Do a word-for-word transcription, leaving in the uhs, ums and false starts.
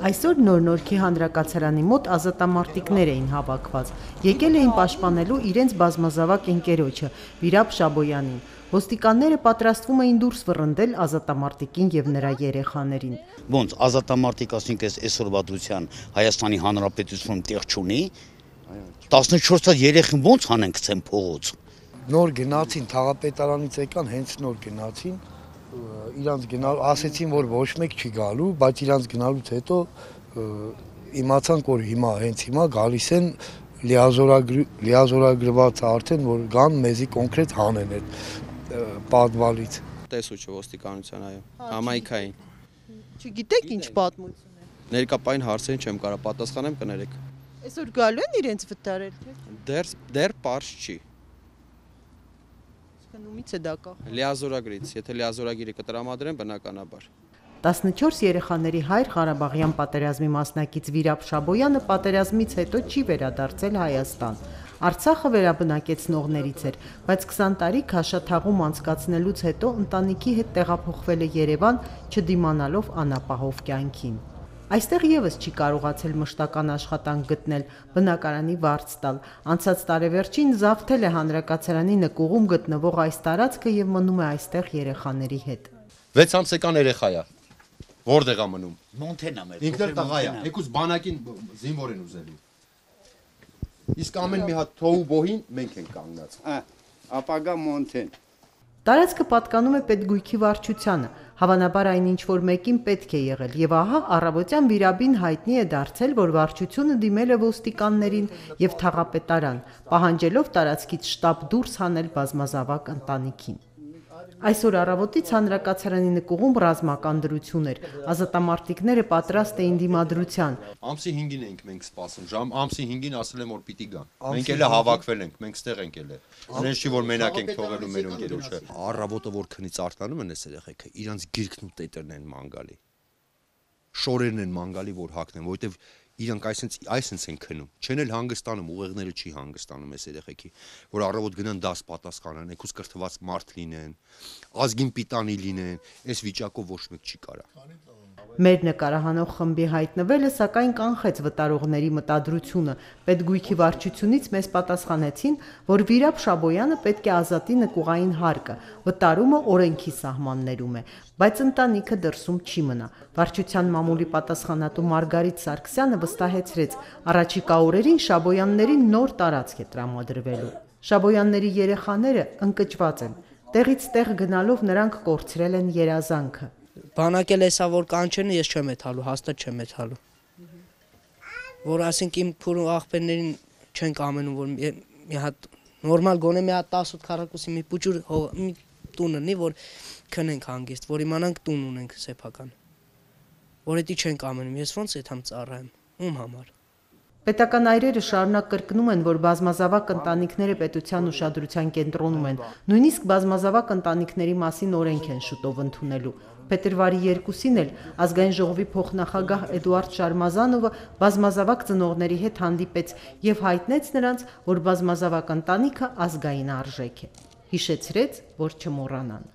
Այսօր Նոր-Նորքի հանրակացարանի մոտ ազատամարտիկներ էին հավաքված, եկել էին պաշտպանելու իրենց բազմազավակ ընկերոջը Վիրապ Շաբոյանին։ Ոստիկանները պատրաստվում էին դուրս վռնդել ազատամարտիկին եւ նրա երեխաներին։ Ոնց ազատամարտիկ ասենք այս այսօրվա դրության Հայաստանի Հանրապետությունում տեղ չունի, տասնչորս հազար երեխին ոնց հանենք ցեն փողոց։ Նոր գնացին թաղապետարանից եկան, հենց նոր գնացին, իրանց գնալ ասեցին, որ ոչ մեկ չի գալու, բայց իրանց գնալուց հետո իմացանք, որ հիմա հենց հիմա գալիս են լիազորագրված արդեն, որ գան մեզի կոնկրետ հանեն այդ պատվալից։ Տեսուչը ոստիկանության, այո, համայնքային։ Չգիտեք ինչ պատմություն է։ Ներկապային հարցերին չեմ կարող պատասխանեմ, կներեք։ Այսօր գալու են իրենց վտարել, թե՞ Դեռ դեռ պարզ չի։ Ումից է դա կախ։ Լիազորագրից, եթե լիազորագիրը կտրամադրեն, բնականաբար։ տասնչորս երեխաների հայր Ղարաբաղյան պատերազմի մասնակից Վիրապ Շաբոյանը պատերազմից հետո չի վերադարձել Հայաստան։ Արցախը վերաբնակեցնողներից էր, բայց քսան տարի քաշաթաղում անցկացնելուց հետո ընտանիքի հետ տեղափոխվել է Երևան, չդիմանալով անապահով կյանքին։ Այստեղ եւս չի կարողացել մշտական աշխատանք գտնել, բնակարանի վարձ տալ։ Անցած տարեվերջին զավթել է հանրակացարանի նկուղում գտնվող այս տարածքը եւ մնում է այստեղ երեխաների հետ։ վեց ամսական երեխա է։ Որտեղ է մնում։ Մոնթենա մեր։ Ինքն էլ տղա է։ Եկուս բանակին զինվոր են ուզելու։ Իսկ ամեն մի հատ թոու բոհին մենք ենք կանգնած։ Ապագա Մոնթեն։ Տարածքը պատկանում է պետգույքի վարչությանը, հավանաբար այն ինչ-որ մեկին պետք է եղել, եւ ահա առավոտյան Վիրաբին հայտնի է դարձել, որ վարչությունը դիմել է ոստիկաններին եւ թաղապետարան, պահանջելով տարածքից շտապ դուրս հանել բազմազավակ ընտանիքին։ Այսօր առավոտից հանրակացարանի նկուղում ռազմական դրություն էր, ազատամարտիկները պատրաստ էին դիմադրության։ Ամսի հինգին ենք մենք սպասում, ժամ ամսի հինգին ասել եմ որ պիտի գան։ Մենք էլ հավաքվել ենք, մենք ստեղ ենք ելել։ Այնպես չի որ մենակ ենք թողելու մեր ընկերոջը։ Առավոտը որ քնից արտանում են այս երեխեքը, իրանց գիրքն ու տետերն են մանգալի։ Շորերն են մանգալի, որ հակնեն, որովհետև իրանք այսենց այսենց են քնում, չեն էլ հանգստանում, ուղեղները չի հանգստանում այս երեխեքի, որ առավոտ գնան դաս պատասխանան, եկուս կրթված մարդ լինեն, ազգին պիտանի լինեն, այս վիճակով ոչ մեկ չի կարա։ Մեր նկարահանող խմբի հայտնվելը սակայն կանխեց վտարողների մտադրությունը։ Պետգույքի վարչությունից մեզ պատասխանեցին, որ Վիրապ Շաբոյանը պետք է ազատի նկուղային հարկը, վտարումը օրենքի սահմաններում է, բայց ընտանիքը դրսում չի մնա։ Վարչության մամուլի պատասխանատու Մարգարիտ Սարգսյանը վստահեցրեց, առաջիկա օրերին Շաբոյաններին նոր տարածք է տրամադրվելու։ Շաբոյանների երեխաները ընկճված են։ Տեղից տեղ գնալով նրանք կորցրել են երազանքը։ Բանակել էսա որ կանչեն ես չեմ եթալու, հաստատ չեմ եթալու։ Որ ասենք իմ փուրու աղբերներին չեն կամենում որ մի հատ նորմալ գոնե մի հատ տասը քառակուսի մի փուճուր մի տուն ունի որ քնենք հանգիստ, որ իմանանք տուն ունենք սեփական։ Որ էդի չեն կամենում, ես ոնց եթամ ծառայեմ, ում համար։ Պետական այրերը շարունակ կրկնում են, որ բազմազավակ ընտանիքները պետության ուշադրության կենտրոնում են, նույնիսկ բազմազավակ ընտանիքների մասին օրենք են շուտով ընդունելու։ Փետրվարի երկուսին էլ ազգային ժողովի փոխնախագահ Էդուարդ Շարմազանովը բազմազավակ ծնողների հետ հանդիպեց եւ հայտնեց նրանց, որ բազմազավակ ընտանիքը ազգային արժեք է։ Հիշեցրեց, որ չմոռանան։